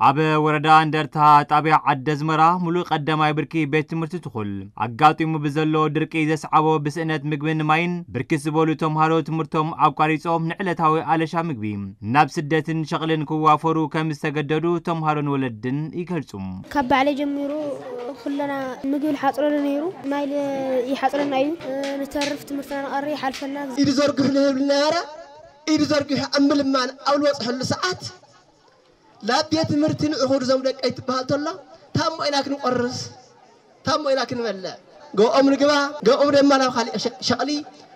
ኣብ ወረዳ እንደርታ ጣብያ ዓዲ ኣዝመራ ሙሉእ ቀዳማይ ብርኪ ቤት ትምህርቲ ትኹል ኣጋጢሙ ብዘሎ ድርቂ ዘስዓቦ ብስእነት ምግብን ማይን ብርክት ዝበሉ ተምሃሮ ትምህርቶም ኣቋሪጾም ንዕለታዊ ኣለሻ ምግቢ ናብ ስደትን ሸቕልን ክዋፈሩ ከም ዝተገደዱ ተምሃሮን ወለድን ይገልጹ። ካብ ባዕለይ ጀሚሩ ኩለና ምግቢ ሓፅረሉ ነይሩ፣ ማይ ይሓፅረና እዩ። ንተርፍ ትምህርትና ንቐሪ ይሓልፈና። ኢዱ ዘርግሑ ንህብል ነበረ። ኢዱ ዘርጊሑ ኣብ ምልማን ኣብ ዝበፅሐሉ ሰዓት ናብ ቤት ትምህርቲ ንዑ ክዱ ዞም ደቀይ ትበሃል ተሎ ታሞ ኢና ክንቆርስ፣ ታሞ ኢና ክንበልዕ፣ ገኦም ንግባ፣ ገኦም ድማ ናብ ካሊእ ሸ- ሸቕሊ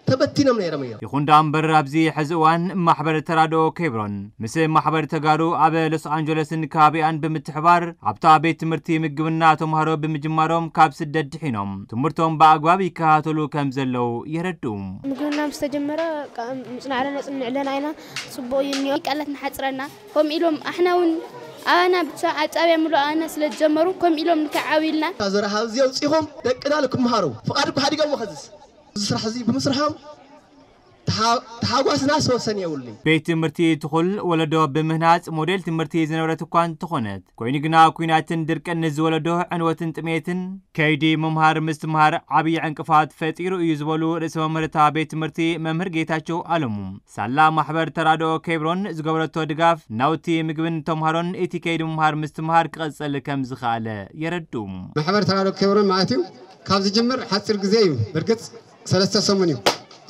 ተበቲኖም ነይሮም እዮም። ይኹን ደኣ እምበር ኣብዚ ሕዚ እዋን ማሕበር ተራድኦ ኬብሮን ምስ ማሕበር ተጋሩ ኣብ ሎስ ኣንጀለስን ከባቢኣን ብምትሕባር ኣብታ ቤት ትምህርቲ ምግብና ተምሃሮ ብምጅማሮም ካብ ስደት ድሒኖም ትምህርቶም ብኣግባብ ይከታተሉ ከም ዘለዉ የረድኡ። ምግብና ምስ ተጀመረ ምፅናዕለ ነፅንዕለና ኢና። ፅቡቕ እዩ እኒኦ። ቃላት ንሓፅረና ከምኡ ኢሎም ኣሕና እውን ኣባና ብቻ ኣብ ጣብያ ምሉእ ኣባና ስለ ዝጀመሩ ከምኡ ኢሎም ንከዓብዩልና። ካብ ዘረሃ ኣብዚ ኣውፂኹም ደቅና ንክምሃሩ ፍቓድ እኮ ሓዲጎም ከዝስ እዚ ስራሕ እዚ ብምስርሖም ተሓ- ተሓጓስና ሰወሰን የብሉን። ቤት ትምህርቲ ትኹል ወለዶ ብምህናፅ ሞዴል ትምህርቲ ዝነበረት እኳ እንተኾነት ኮይኑ ግና ኩናትን ድርቅን ንዝወለዶ ዕንወትን ጥሜትን ከይዲ ምምሃር ምስትምሃር ዓብዪ ዕንቅፋት ፈጢሩ እዩ ዝበሉ ርእሰ መምህርታ ቤት ትምህርቲ መምህር ጌታቸው ኣለሙ ሳላ ማሕበር ተራድኦ ኬብሮን ዝገበረቶ ድጋፍ ናውቲ ምግብን ተምሃሮን እቲ ከይዲ ምምሃር ምስትምሃር ክቐፅል ከም ዝኸኣለ የረድኡ። ማሕበር ተራድኦ ኬብሮን ማለት እዩ ካብ ዝጅምር ሓፂር ግዜ እዩ። ብርግፅ ሰለስተ ሰሙን እዩ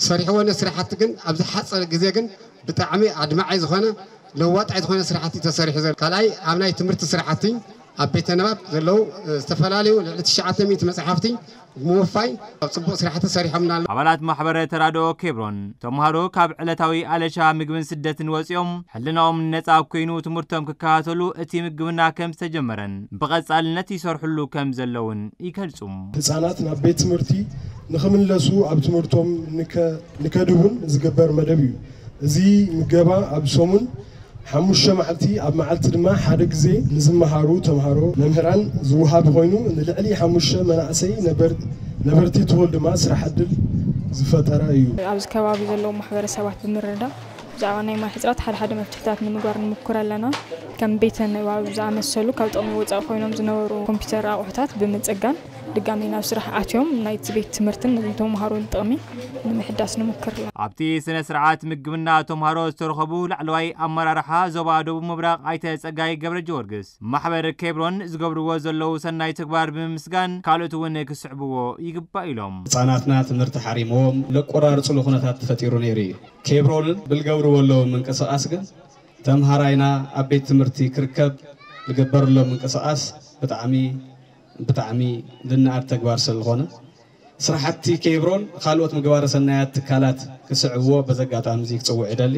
ሰሪሕዎ። ነቲ ስራሕቲ ግን ኣብዚ ሓፀረ ግዜ ግን ብጣዕሚ ኣድማዒ ዝኾነ ለዋጣይ ዝኾነ ስራሕቲ ተሰሪሑ ዘሎ። ካልኣይ ኣብ ናይ ትምህርቲ ስራሕቲ ኣብ ቤተ ንባብ ዘለዉ ዝተፈላለዩ ልዕሊ ትሽዓተ ሚእቲ መፅሓፍቲ ብምውፋይ ኣብ ፅቡቕ ስራሕቲ ሰሪሖምና ኣለዉ። ኣባላት ማሕበረ ተራድኦ ኬብሮን ተምሃሮ ካብ ዕለታዊ ኣለሻ ምግብን ስደትን ወፂኦም ሕልናኦም ነፃ ኮይኑ ትምህርቶም ክከታተሉ እቲ ምግብና ከም ዝተጀመረን ብቐፃልነት ይሰርሕሉ ከም ዘለውን ይገልጹ። ህጻናት ናብ ቤት ትምህርቲ ንኽምለሱ ኣብ ትምህርቶም ንከ- ንከድውን ዝግበር መደብ እዩ። እዚ ምገባ ኣብ ሰሙን ሓሙሽተ መዓልቲ ኣብ መዓልቲ ድማ ሓደ ግዜ ንዝመሃሩ ተምሃሮ መምህራን ዝወሃብ ኮይኑ ንልዕሊ ሓሙሽተ መናእሰይ ነበር- ነበርቲ ትኹል ድማ ስራሕ ዕድል ዝፈጠረ እዩ። ኣብዚ ከባቢ ዘለዉ ማሕበረሰባት ብምርዳእ ብዛዕባ ናይ ማይ ሕፅረት ሓደ ሓደ መፍትሕታት ንምግባር ንምኩር ኣለና። ከም ቤተ ንባብ ዝኣመሰሉ ካብ ጥቕሚ ወፃኢ ኮይኖም ዝነበሩ ኮምፒውተር ኣቑሑታት ብምፅጋን ድጋሚ ናብ ስራሕ ኣትዮም ናይቲ ቤት ትምህርትን ንተምሃሮን ጥቕሚ ንምሕዳስ ንምክር ኣለና። ኣብቲ ስነ ስርዓት ምግብና ተምሃሮ ዝተረኸቡ ላዕለዋይ ኣመራርሓ ዞባ ደቡብ ምብራቕ ኣይተ ፀጋይ ገብረ ጊዮርጊስ ማሕበር ኬብሮን ዝገብርዎ ዘለዉ ሰናይ ተግባር ብምምስጋን ካልኦት እውን ክስዕብዎ ይግባእ ኢሎም። ህፃናትና ትምህርቲ ሓሪምዎም ለቆራርፅሉ ኩነታት ተፈጢሩ ነይሩ እዩ። ኬብሮንን ብልገብርዎ ኣለዉ ምንቅስቃስ ግን ተምሃራይና ኣብ ቤት ትምህርቲ ክርከብ ዝገበርሎ ምንቅስቃስ ብጣዕሚ ብጣዕሚ ዝነኣድ ተግባር ስለዝኾነ ስራሕቲ ኬብሮን ካልኦት ምግባረ ሰናያት ትካላት ክስዕብዎ በዚ ኣጋጣሚ እዚ ክፅውዕ ይደሊ።